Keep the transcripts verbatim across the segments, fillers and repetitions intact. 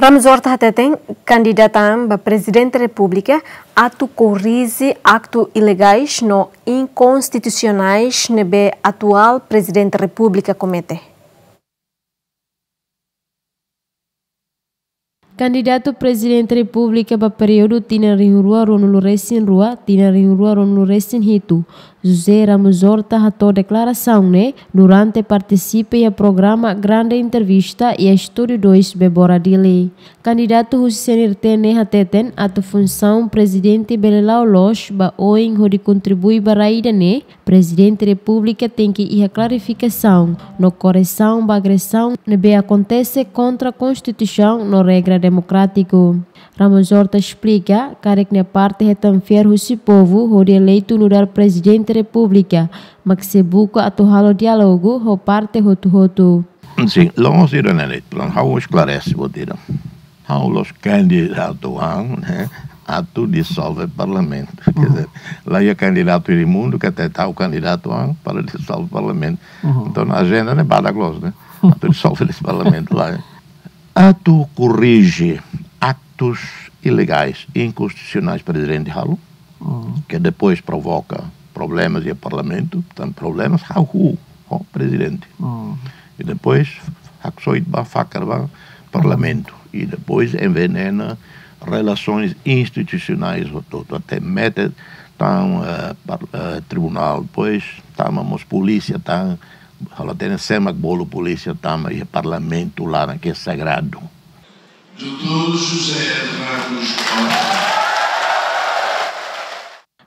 Ramos Horta hateten kandidatan ba Prezidente Repúblika atu korrije aktu ilegais no inkonstitusionais ne'ebé atuál Prezidente Repúblika komete. Kandidatu Prezidente Repúblika ba períodu tinan rihun rua ruanulu resin rua, tinan rihun rua ruanulu resin hitu, José Ramos Horta hato'o deklarasaun ne'e durante partisipa iha programa Grande Entrevista iha Estúdiu dois Bebora Dili. Kandidatu husi C N R T ne'e hateten atu funsaun prezidente bele la'o loos ba oin hodi kontribui ba rai ida-ne'e, Prezidente Repúblika tenke iha klarifikasaun no koresaun ba agresaun ne'ebé akontese kontra Konstituisaun no regra demokrátiku. Ramos Horta esplika katak nia parte hetan fiar husi povu hodi eleitu nu'udar Prezidente Repúblika, mak sei buka atu halo diálogu ho parte hotu-hotu. Sin, loos ida-ne'e de'it, pronto, ha'u esklarese buat ida. Ha'u la'ós kandidatu an, ne'e, atu disolve Parlamentu. Quer dizer, la iha kandidatu iha mundu katak ha'u kandidatu an para disolve Parlamentu. Entaun, ajenda ne'e badak loos, ne'e. Atu disolve de'it Parlamentu, lae. Atu korrije aktus ilegais, inkonstitusionais Prezidente halo, ke depois provoka problemas iha Parlamentu, tan problemas hahú ho Prezidente. I depois haksoit ba, fakar ba Parlamentu. I depois envenena relasoens institusionais hotu-hotu, até mete tan, eh, par-, eh, tribunál, depois tama mós polísia tan, halo tene semak bolu polísia tama iha Parlamentu laran ke sagradu. Doutór José Ramos Horta.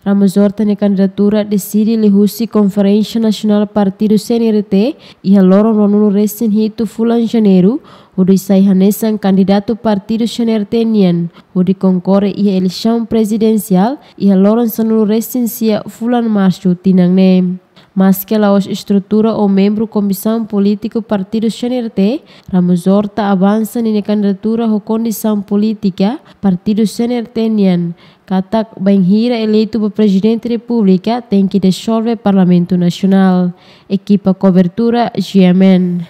Ramos Horta nia kandidatura deside liuhusi Konferénsia Nasionál Partidu C N R T iha loron ruanulu resin hitu fulan Janeiru, hodi sai hanesan kandidatu Partidu C N R T nian, hodi konkorre iha eleisaun prezidensiál iha loron sanulu resin sia fulan Marsu tinan ne'e. Maske la'ós estrutura ou membru Komisaun Polítiku Partidu C N R T, Ramos Horta avansa ninia kandidatura ho kondisaun polítika Partidu C N R T nian, katak bainhira eleitu ba Prezidente Repúblika tenke disolve Parlamentu Nasionál. Ekipa kobertura G M N.